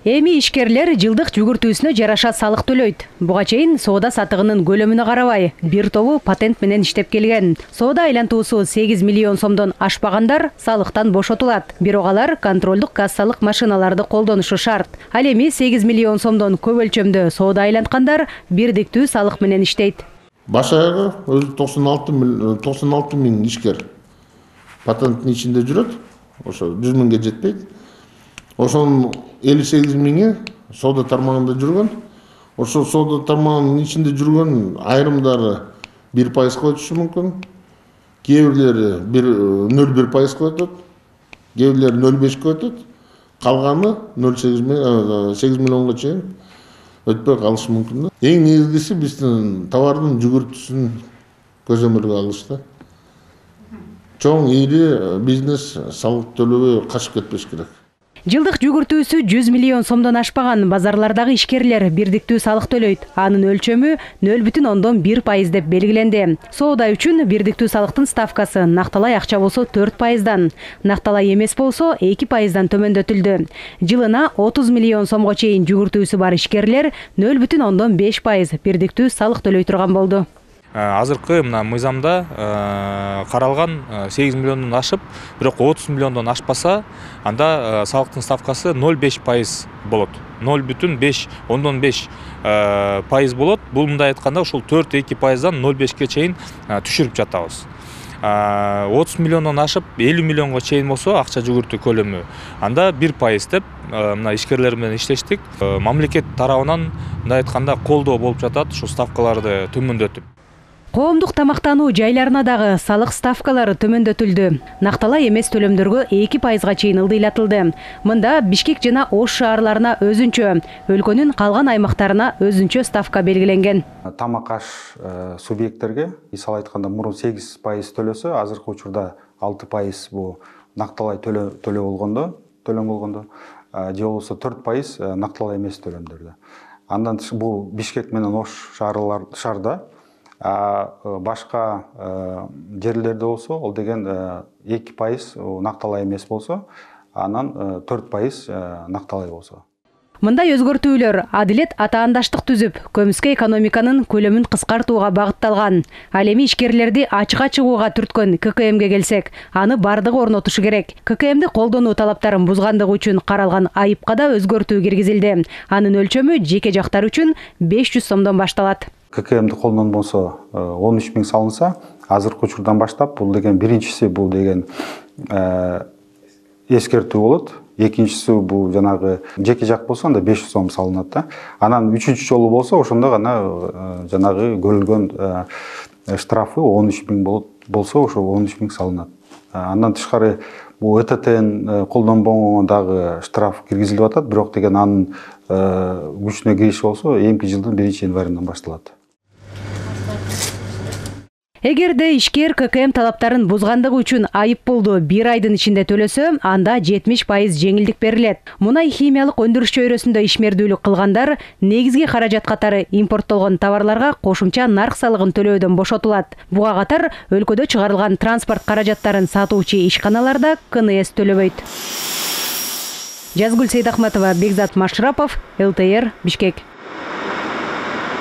Эми ишкерлер жылдык жүгүртүүсүнө жараша салык төлөйт. Буга чейин соода сатыгынын көлөмүнө карабай, бир тобу патент менен иштеп келген. Соода айлантуусу 8 миллион сомдон ашпагандар салыктан бошотулат. Бирок алар контролдук кассалык машиналарды колдонушу шарт. Ал эми 8 миллион сомдон көп өлчөмдө соода айланткандар бирдиктүү салык менен иштейт. Баш аягы өзү 96 миң ишкер патенттин ичинде жүрөт. Ошо 100 миңге жетпейт. Ошонун 58 миңи соода тармагында жүргөн. Ошо соода тармагынын ичинде жүргөн айрымдары 1% өтүшү мүмкүн. Кээ бирлери 0,1% өтөт. Кээ бирлери 0,5 өтөт. Калганы 8 миллионго чейин өтпөй калышы мүмкүн. Эң негизгиси биздин товардын жүгүртүүсүн көзөмөлгө алышты. Чоң ири бизнес салык төлөбөй качып кетпеш керек. Жылдык жүгүртүүсү 100 миллион сомдон ашпаган базарлардагы ишкерлер бирдиктүү салык төлөйт. Анын өлчөмү 0,1% деп белгиленди. Соода үчүн бирдиктүү салыктын ставкасы накталай акча болсо 4%, накталай эмес болсо 2%дан төмөндөтүлдү. Жылына 30 миллион сомго чейин жүгүртүүсү бар ишкерлер 0,5% бирдиктүү салык төлөй турган болду. Азыркы мына мыйзамда каралган 8 миллиондон ашып, бирок 30 миллиондон ашпаса, анда салыктын ставкасы 0,5% болот. 0,5% болот. Бул мындай айтканда ушул 4,2%дан 0,5-ке чейин түшүрүп жатабыз. 30 миллиондон ашып 50 миллионго чейин болсо акча жүгүртүү көлөмү, анда 1% деп мына ишкерлер менен иштештик. Мамлекет тарабынан мындай айтканда колдоо болуп жатат, ушу ставкаларды төмөндөтүп. Коомдук тамактануу жайларына дагы салык ставкалары төмөндөтүлдү. Накталай эмес төлөмдөргө 2%га чейин ылдыйлатылды. Мында Бишкек жана Ош шаарларына өзүнчө, өлкөнүн калган аймактарына өзүнчө ставка белгиленген. Тамак аш субъекттерге, мисалы айтканда, мурун 8% төлөсө, азыркы учурда 6% бул накталай төлөм болгондо, же болбосо 4% накталай эмес төлөмдөрдө. Андан бул Бишкек менен Ош шаарда, башка жерлерде болсо, ол деген 2% накталай эмес болсо, анан 4% накталай болсо. Мындай өзгөртүүлөр адилет атаандаштык түзүп, көмүскө экономиканын көлөмүн кыскартууга багытталган. Ал эми ишкерлерди ачыкка чыгууга түрткөн ККМге келсек, аны бардыгы орнотушу керек. ККМди колдонуу талаптарын бузгандыгы үчүн каралган айыпка да өзгөртүү киргизилди. Анын өлчөмү жеке жактар үчүн 500 сомдон башталат. ККМди колдонбосо 13 миң салынса, азыркы учурдан баштап бул деген биринчиси бул деген эскертүү болот. Экинчиси бул жанагы жеке жак болсо анда 500 сом салынат да. Анан үчүнчү жолу болсо ошондо гана жанагы көрүлгөн штрафы 13 миң болсо ошо 13 миң салынат. Андан тышкары бул ЭТТн колдонбогонго дагы штраф киргизилип атат, бирок деген анын күчүнө кириши болсо эмки жылдын 1-январынан башталат. Эгерде ишкер ККМ талаптарын бузгандыгы үчүн айып пулду 1 айдын ичинде төлөсө, анда 70% жеңилдик берилет. Мунай химиялык өндүрүш чөйрөсүндө ишмердүүлүк кылгандар негизги каражат катары импорттолгон товарларга кошумча нарк салыгын төлөөдөн бошотулат. Буга катар өлкөдө чыгарылган транспорт каражаттарын сатуучу ишканаларда КНС төлөбөйт. Жазгүл Сейдахматова, Бекзат Машрапов, ЛТР, Бишкек.